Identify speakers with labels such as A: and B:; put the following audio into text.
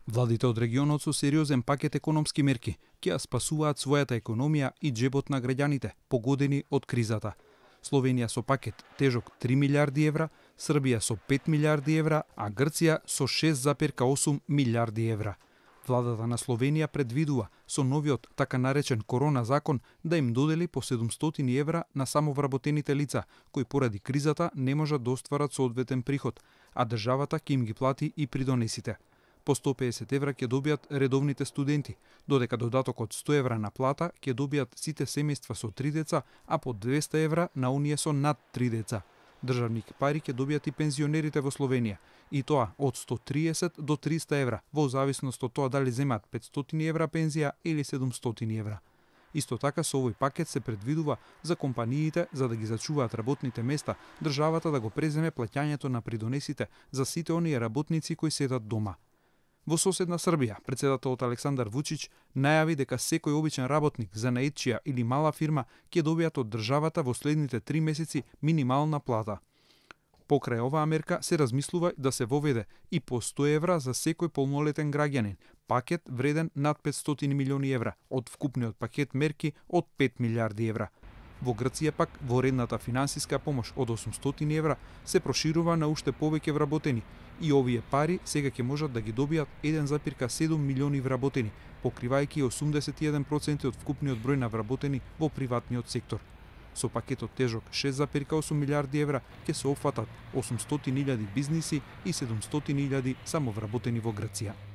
A: Владите од регионот со сериозен пакет економски мерки ќе ја спасуваат својата економија и джебот на граѓаните погодени од кризата. Словенија со пакет тежок 3 милиарди евра, Србија со 5 милиарди евра, а Грција со 6,8 милиарди евра. Владата на Словенија предвидува со новиот така наречен корона закон да им додели по 700 евра на самовработените лица, кои поради кризата не можат да остварат соодветен приход, а државата ќе им ги плати и придонесите. По 150 евра ќе добијат редовните студенти, додека додаток од 100 евра на плата ќе добијат сите семејства со 3 деца, а по 200 евра на оние со над 3 деца. Државни пари ќе добијат и пензионерите во Словенија, и тоа од 130 до 300 евра, во зависност од тоа дали земаат 500 евра пензија или 700 евра. Исто така со овој пакет се предвидува за компаниите за да ги зачуваат работните места, државата да го преземе плаќањето на придонесите за сите оние работници кои седат дома. Во соседна Србија, претседателот Александар Вучич најави дека секој обичен работник, занаетчија или мала фирма ќе добијат од државата во следните 3 месеци минимална плата. Покрај оваа мерка се размислува да се воведе и по 100 евра за секој полнолетен граѓанин, пакет вреден над 500 милиони евра од вкупниот пакет мерки од 5 милиарди евра. Во Грција пак воредната финансиска помош од 800 евра се проширува на уште повеќе вработени и овие пари сега ќе можат да ги добијат 1,7 милиони вработени, покривајќи 81% од вкупниот број на вработени во приватниот сектор. Со пакетот тежок 6,8 милиарди евра ќе се опфатат 800.000 бизниси и 700.000 самовработени во Грција.